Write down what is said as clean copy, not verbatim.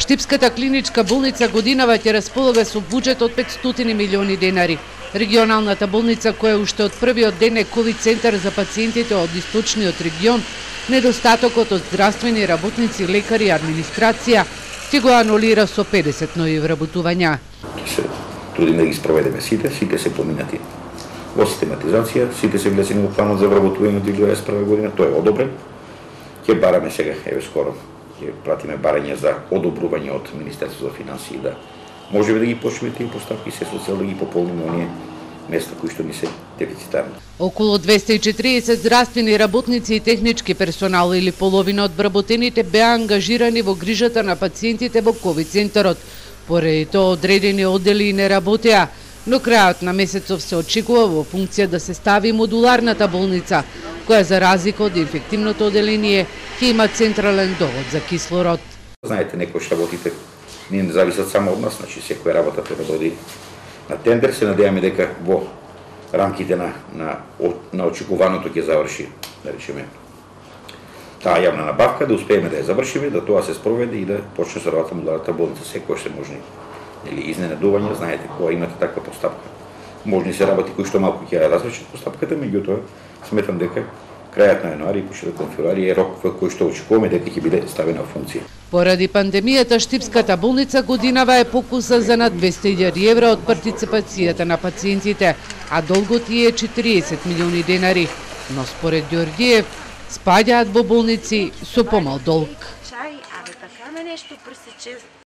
Штипската клиничка болница годинава ќе располага со буџет од 500 милиони денари. Регионалната болница, која уште од првиот ден е ковид центар за пациентите од источниот регион, недостатокот од здравствени работници, лекари и администрација ќе го анулира со 50 нови вработувања. Се трудиме да ги спроведеме сите се поминати во систематизација, сите се влесени во планот за вработување од 2021 година, тој е одобрен. Ќе бараме сега, скоро, ќе пратиме барање за одобрување од Министерството за финансии да можеме да ги почнеме тие поставки се со цел да ги пополниме оние места кои што ни се дефицитарни. Околу 240 здравствени работници и технички персонал или половина од вработените беа ангажирани во грижата на пациентите во ковид центарот. Поради тоа одредени оддели не работеа, но крајот на месецов се очекува во функција да се стави модуларната болница, која за разлика од инфективното оделение ќе има централен довод за кислород. Знаете, некојаш работите не зависат само од нас, значи секоја работа треба да оди на тендер, се надеваме дека во рамките на очекуваното ќе заврши, да речеме, таа јавна набавка, да успееме да ја завршиме, да тоа се спроведе и да почне со работа модуларната болница. Секојаш се можни изненадувања, знаете, кога имате таква постапка. Можни се работи кои што малку ќе ја развршат постапката, меѓутоа сметам дека крајот на јануари и почетокот на февруари е рок во кој што очекуваме дека ќе биде ставена во функција. Поради пандемијата, Штипската болница годинава е покуса за над 200.000 евра од партиципацијата на пациентите, а долгот е 40 милиони денари. Но според Ѓорѓиев, спаѓаат во болници со помал долг.